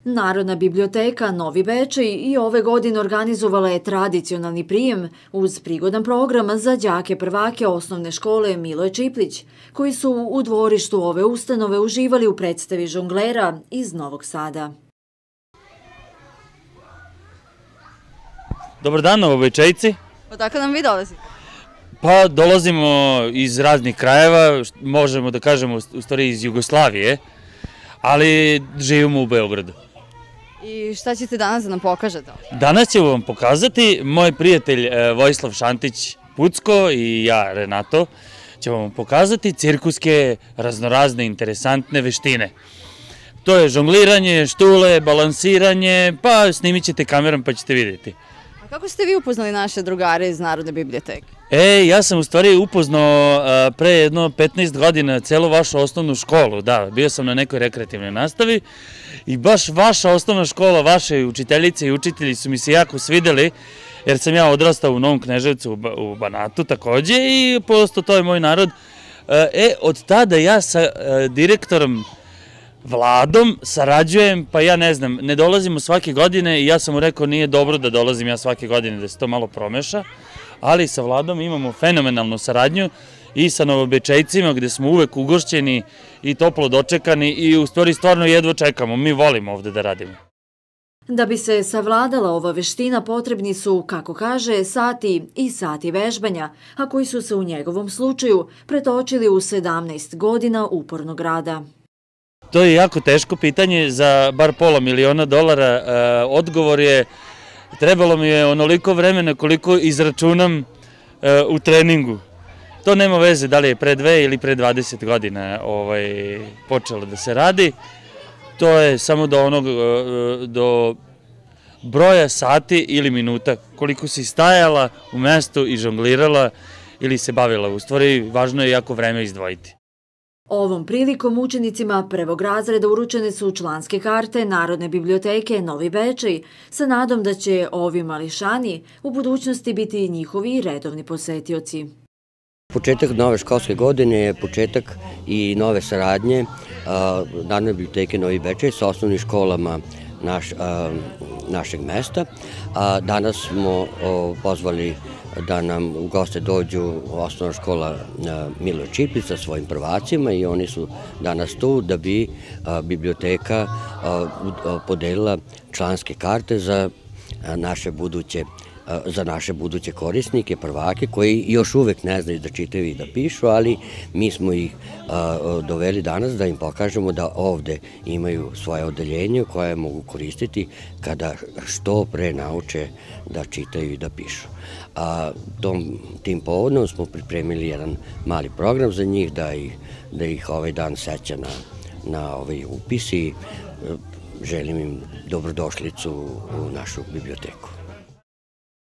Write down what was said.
Narodna biblioteka Novi Bečej i ove godine organizovala je tradicionalni prijem uz prigodan program za đake prvake osnovne škole Miloje Čiplić, koji su u dvorištu ove ustanove uživali u predstavi žonglera iz Novog Sada. Dobar dan, Novobečejci. Odakle nam vi dolazite? Pa dolazimo iz raznih krajeva, možemo da kažemo u stvari iz Jugoslavije, ali živimo u Beogradu. I šta ćete danas da nam pokažete? Danas ću vam pokazati, moj prijatelj Vojislav Šantić Pucko i ja Renato ćemo vam pokazati cirkuske raznorazne interesantne veštine. To je žongliranje, štule, balansiranje, pa snimit ćete kamerom pa ćete vidjeti. A kako ste vi upoznali naše drugare iz Narodne biblioteke? Ja sam u stvari upoznao pre jedno 15 godina celu vašu osnovnu školu, da, bio sam na nekoj rekreativnoj nastavi i baš vaša osnovna škola, vaše učiteljice i učitelji su mi se jako svideli, jer sam ja odrastao u Novom Kneževcu u Banatu takođe i prosto to je moj narod. Od tada ja sa direktorom Vladom sarađujem, pa ja ne znam, ne dolazimo svake godine i ja sam mu rekao nije dobro da dolazim ja svake godine, da se to malo promeša, ali sa Vladom imamo fenomenalnu saradnju i sa Novobečejcima gde smo uvek ugošćeni i toplo dočekani i u stvari stvarno jedva čekamo, mi volimo ovde da radimo. Da bi se savladala ova veština potrebni su, kako kaže, sati i sati vežbanja, a koji su se u njegovom slučaju pretočili u 17 godina upornog rada. To je jako teško pitanje za bar $500.000. Odgovor je, trebalo mi je onoliko vremena koliko izračunam u treningu. To nema veze da li je pre 2 ili pre 20 godina počelo da se radi. To je samo do broja sati ili minuta koliko si stajala u mestu i žonglirala ili se bavila. U stvari, važno je jako vreme izdvojiti. Ovom prilikom učenicima prvog razreda uručene su članske karte Narodne biblioteke Novi Bečej sa nadom da će ovi mališani u budućnosti biti njihovi redovni posetioci. Početak nove školske godine je početak i nove saradnje Narodne biblioteke Novi Bečej sa osnovnim školama našeg mesta. Danas smo pozvali da nam u goste dođu osnovna škola Miloje Čiplić sa svojim prvacima i oni su danas tu da bi biblioteka podelila članske karte za naše buduće korisnike, prvake, koji još uvek ne znaju da čitaju i da pišu, ali mi smo ih doveli danas da im pokažemo da ovde imaju svoje odeljenje koje mogu koristiti kada što pre nauče da čitaju i da pišu. Tim povodom smo pripremili jedan mali program za njih da ih ovaj dan seća na ovaj upis i želim im dobrodošlicu u našu biblioteku.